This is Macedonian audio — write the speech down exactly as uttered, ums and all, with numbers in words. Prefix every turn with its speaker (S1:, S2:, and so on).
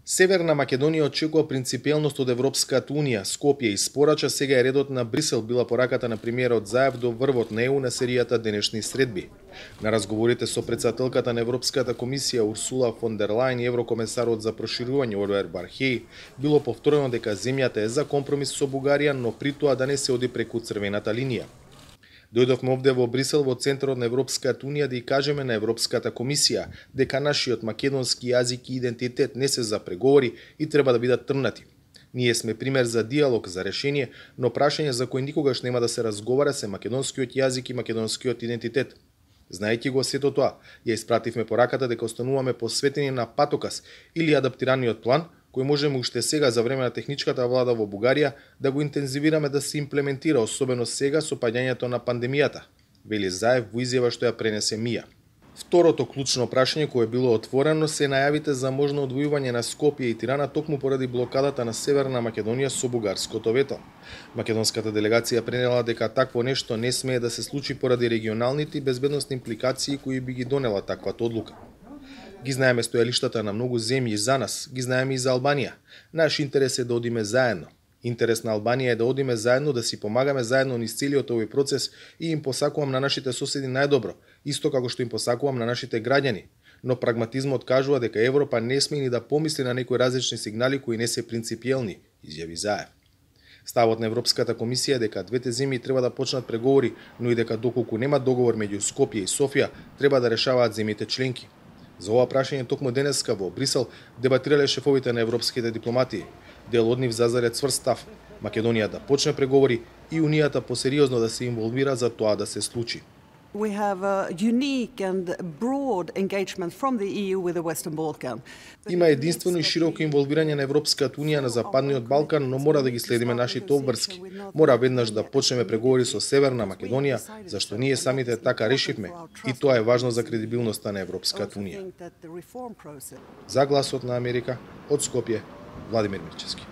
S1: Северна Македонија очекува принципиелност од Европската Унија. Скопје испорача сега е редот на Брисел, била пораката на премиерот Заев до врвот на Е У на серијата денешни средби. На разговорите со претседателката на Европската комисија Урсула фон дер Лајен и еврокомесарот за проширување Оливер Вархеј било повторено дека земјата е за компромис со Бугарија, но при тоа да не се оди преку црвената линија. Дојдовме овде во Брисел, во центарот на Европската Унија, да и кажеме на Европската комисија дека нашиот македонски јазик и идентитет не се за преговори и треба да бидат трнати. Ние сме пример за диалог, за решение, но прашање за кој никогаш нема да се разговара се македонскиот јазик и македонскиот идентитет. Знаејќи го сето тоа, ја испративме пораката дека остануваме посветени на патокас или адаптираниот план, кој можеме уште сега за време на техничката влада во Бугарија да го интензивираме да се имплементира, особено сега со паѓањето на пандемијата, вели Заев во изјава што ја пренесе МИА. Второто клучно прашање кое било отворено се најавите за можно одвојување на Скопје и Тирана токму поради блокадата на Северна Македонија со бугарското вето. Македонската делегација пренела дека такво нешто не смее да се случи поради регионалните и безбедносни импликации кои би ги донела таквата одлука. Ги знаеме стојалиштата на многу земји за нас, ги знаеме и за Албанија. Наш интерес е да одиме заедно. Интерес на Албанија е да одиме заедно, да си помагаме заедно низ целиот овој процес и им посакувам на нашите соседи најдобро, исто како што им посакувам на нашите граѓани. Но прагматизмот кажува дека Европа не сме ни да помисли на некои различни сигнали кои не се принципиелни, изјави Заев. Ставот на Европската комисија е дека двете земји треба да почнат преговори, но и дека доколку нема договор меѓу Скопје и Софија, треба да решаваат земјите членки. За ова прашање токму денеска во Брисел дебатирале шефовите на европските дипломатии. Дел од нив зазаре цврст став Македонија да почне преговори и Унијата посериозно да се инволвира за тоа да се случи.
S2: We have a unique and broad engagement from the E U with the Western Balkan.
S1: Има единствено и широко инволвирање на Европската Унија на Западниот Балкан, но мора да ги следиме нашите обврски. Мора веднаш да почнеме преговори со Северна Македонија, зашто ние самите така решивме, и тоа е важно за кредибилноста на Европската Унија. За Гласот на Америка, од Скопје, Владимир Мирчевски.